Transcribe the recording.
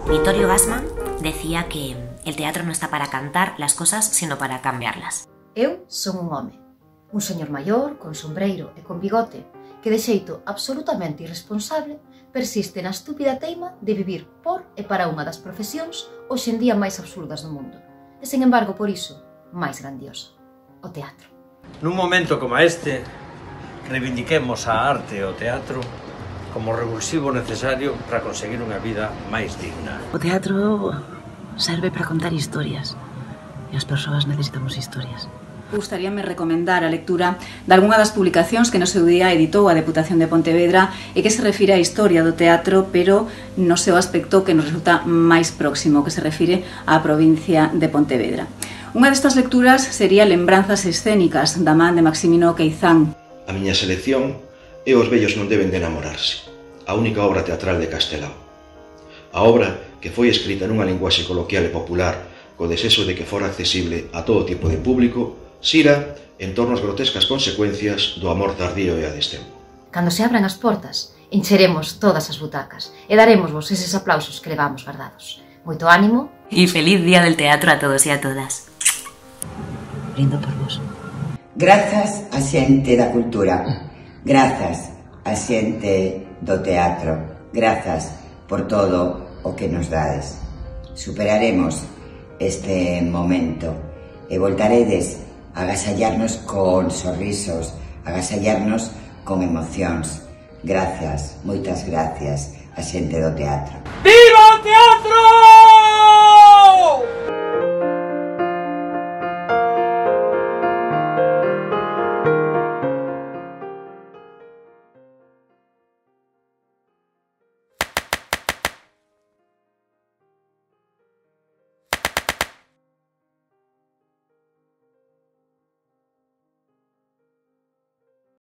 Vittorio Gassman decía que el teatro no está para cantar las cosas, sino para cambiarlas. Eu son un home, un señor maior, con sombreiro e con bigote, que de xeito absolutamente irresponsable persiste na estúpida teima de vivir por e para unha das profesións hoxe en día máis absurdas do mundo, e, sen embargo, por iso, máis grandiosa, o teatro. Nun momento como este, reivindiquemos a arte e o teatro como revulsivo necesario para conseguir unha vida máis digna. O teatro serve para contar historias, e as persoas necesitamos historias. Gustaríame recomendar a lectura de algunha das publicacións que no seu día editou a Deputación de Pontevedra e que se refire á historia do teatro, pero no seu aspecto que nos resulta máis próximo, que se refire á provincia de Pontevedra. Unha destas lecturas sería Lembranzas escénicas, da man de Maximino Queizán. A miña selección é Os vellos non deben de enamorarse, a única obra teatral de Castelao. A obra, que foi escrita nunha linguaxe coloquial e popular, co desexo de que fora accesible a todo tipo de público, xira en torno ás grotescas consecuencias do amor tardío e a destempo. Cando se abran as portas, encheremos todas as butacas e daremosvos eses aplausos que levamos guardados. Moito ánimo Y feliz Día del Teatro a todos y a todas. Brindo por vos. Grazas a xente da cultura, grazas a xente do teatro, grazas por todo o que nos dades. Superaremos este momento e voltaredes a agasallarnos con sorrisos, agasallarnos con emocións. Grazas, moitas gracias a xente do teatro. Viva o teatro!